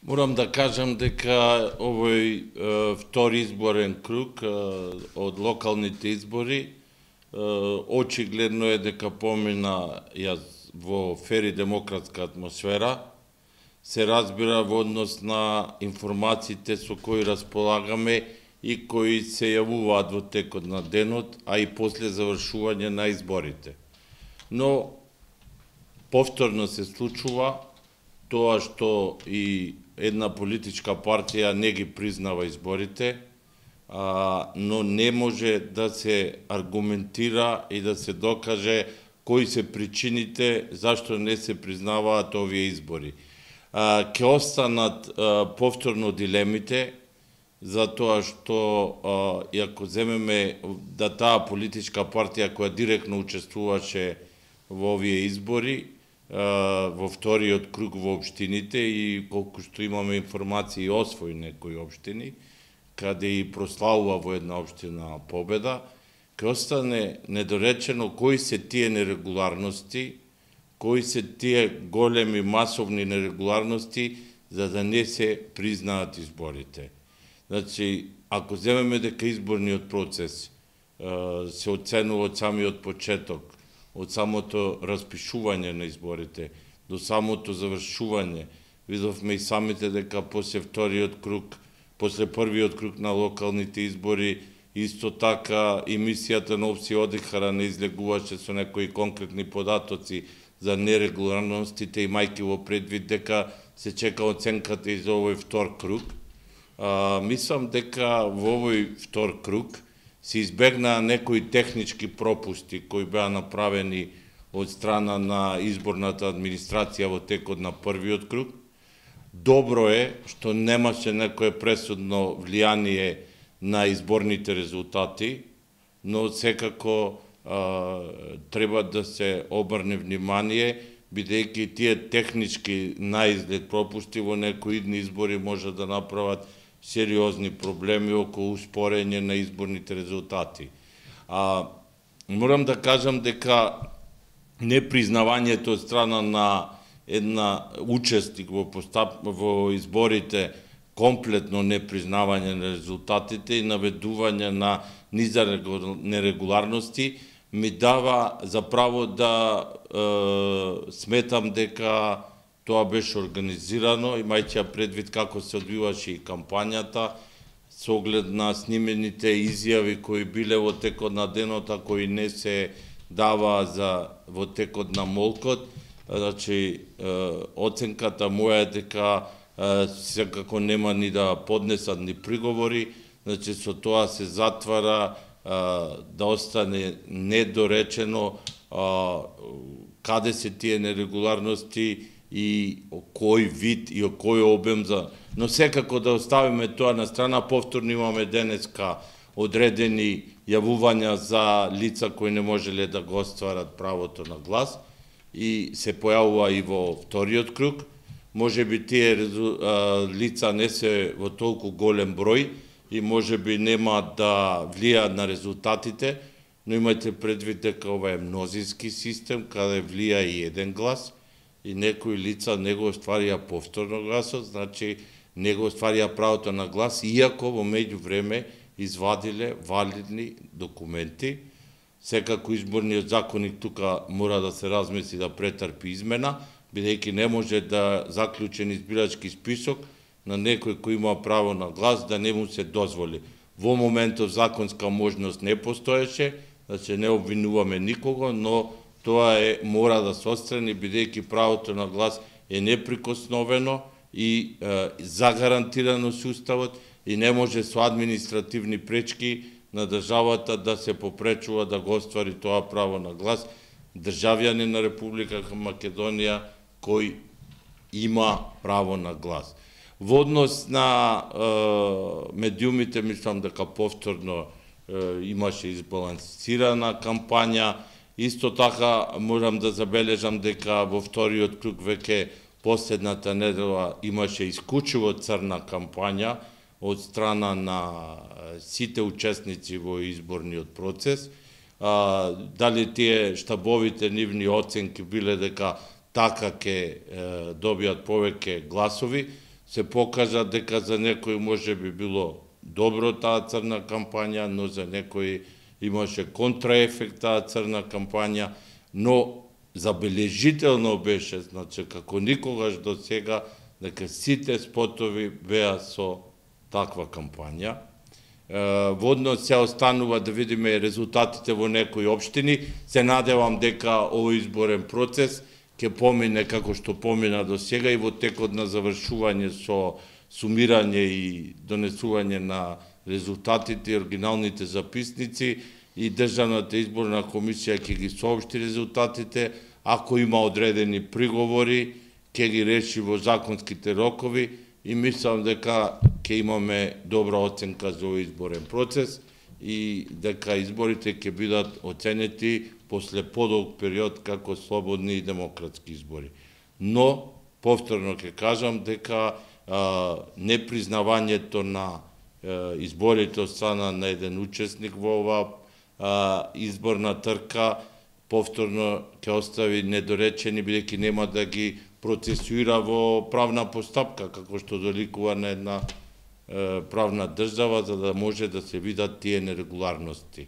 Морам да кажам дека овој втори изборен круг од локалните избори очигледно е дека помина во фер и демократска атмосфера, се разбира во однос на информациите со кои располагаме и кои се јавуваат во текот на денот, а и после завршување на изборите. Но повторно се случува тоа што и една политичка партија не ги признава изборите, но не може да се аргументира и да се докаже кои се причините зашто не се признаваат овие избори. Ќе останат повторно дилемите, затоа што и ако земеме да таа политичка партија која директно учествуваше во овие избори, во вториот круг во општините и колку што имаме информации освои некои општини, каде и прославува во една општина победа, ќе остане недоречено кои се тие нерегуларности, кои се тие големи масовни нерегуларности за да не се признаат изборите. Значи, ако земеме дека изборниот процес се оценува од самиот почеток, од самото распишување на изборите до самото завршување, видовме и самите дека после вториот круг, после првиот круг на локалните избори, исто така емисијата на Опси Одихара не излегуваше со некои конкретни податоци за нерегуларностите, имајќи во предвид дека се чека оценката и за овој втор круг. Мислам дека во овој втор круг се избегнаа некои технички пропусти кои беа направени од страна на изборната администрација во текот на првиот круг. Добро е што немаше некое пресудно влијание на изборните резултати, но секако треба да се обрне внимание, бидејќи тие технички наизглед пропусти во некои идни избори може да направат сериозни проблеми околу успорење на изборните резултати. Морам да кажам дека непризнавањето од страна на една учесник во изборите, комплетно непризнавање на резултатите и наведување на низа нерегуларности ми дава за право да сметам дека тоа беше организирано, имајќи предвид како се одвиваше и кампањата, со оглед на снимените изјави кои биле во текот на денот, а кои не се дава во текот на молкот. Значи, оценката моја е дека секако нема ни да поднесат ни приговори, значи со тоа се затвара да остане недоречено каде се тие нерегуларности и кој вид и кој обем но секако да оставиме тоа на страна. Повторно имаме денеска одредени јавувања за лица кои не можеле да го остварат правото на глас и се појавува и во вториот круг. Може би тие лица не се во толку голем број и може би нема да влијаат на резултатите, но имајте предвид дека ова е мнозински систем, каде влија и еден глас, и некои лица не го остварија повторно гласот, значи не го остварија правото на глас, иако во меѓувреме извадиле валидни документи. Секако изборниот законник тука мора да се размисли да претрпи измена, бидејќи не може да заклучен избирачки список на некој кој има право на глас да не му се дозволи. Во моментов законска можност не постоеше, значи не обвинуваме никого, но тоа мора да се отстрани, бидејќи правото на глас е неприкосновено и загарантирано со уставот и не може со административни пречки на државата да се попречува да го оствари тоа право на глас државјанин на Република Македонија кој има право на глас. Во однос на медиумите, мислам дека повторно имаше избалансирана кампања. Исто така морам да забележам дека во вториот круг веќе последната недела имаше исклучиво црна кампања од страна на сите учесници во изборниот процес. Дали тие штабовите нивни оценки биле дека така ќе добијат повеќе гласови, се покажа дека за некој може би било добро таа црна кампања, но за некој имаше контраефект таа црна кампања, но забележително беше, значи, како никогаш до сега, дека сите спотови беа со таква кампања. Водно се останува да видиме резултатите во некои општини. Се надевам дека овој изборен процес ќе помине како што помина до сега и во текот на завршување со сумирање и донесување на резултатите и оригиналните записници и Државната изборна комисија ќе ги соопшти резултатите. Ако има одредени приговори, ќе ги реши во законските рокови и мислам дека ќе имаме добра оценка за овој изборен процес и дека изборите ќе бидат оценети после подолг период како слободни и демократски избори. Но, повторно ќе кажам дека непризнавањето на изборите од страна на еден учесник во оваа изборна трка повторно ќе остави недоречени, бидејќи нема да ги процесуира во правна постапка, како што доликува на една правна држава, за да може да се видат тие нерегуларности.